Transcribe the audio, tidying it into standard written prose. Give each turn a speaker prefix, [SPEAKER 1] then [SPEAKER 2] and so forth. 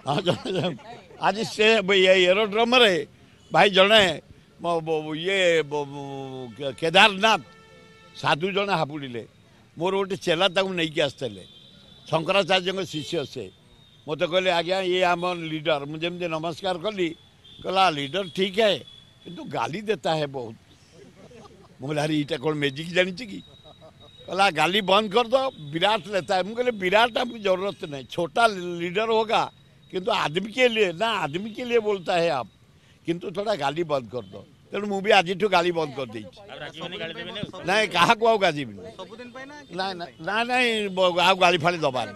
[SPEAKER 1] ହଁ, ଜଣେ ଆଜି ସେ ଏରୋଡ୍ରମରେ ଭାଇ ଜଣେ ଇଏ କେଦାରନାଥ ସାଧୁ ଜଣେ ହାପୁଡ଼ିଲେ। ମୋର ଗୋଟେ ଚେଲା ତାକୁ ନେଇକି ଆସିଥିଲେ, ଶଙ୍କରାଚାର୍ଯ୍ୟଙ୍କ ଶିଷ୍ୟ। ସେ ମୋତେ କହିଲେ, ଆଜ୍ଞା ଇଏ ଆମ ଲିଡର। ମୁଁ ଯେମିତି ନମସ୍କାର କଲି, କହିଲା ଲିଡର ଠିକ୍ ହେ, କିନ୍ତୁ ଗାଲି ଦେତା ହେ ବହୁତ। ମୁଁ କହିଲି, ଆରେ ଏଇଟା କ'ଣ ମ୍ୟାଜିକ୍ ଜାଣିଛି କି? କହିଲା गाली बंद कर दो, विराट लेता है। ମୁଁ କହିଲି, विराट हमको जरूरत नहीं, छोटा लीडर होगा किंतु आदमी के लिए ना, आदमी के लिए बोलता है आप, किंतु थोड़ा गाली बंद कर दो। ତେଣୁ ମୁଁ ବି ଆଜିଠୁ ଗାଳି ବନ୍ଦ କରିଦେଇଛି। ନାଇଁ, କାହାକୁ ଆଉ ଗାଜିବିନି। ନାଇଁ ନାଇଁ ନାଇଁ, ଆଉ ଗାଳି ଫାଳି ଦେବାନି।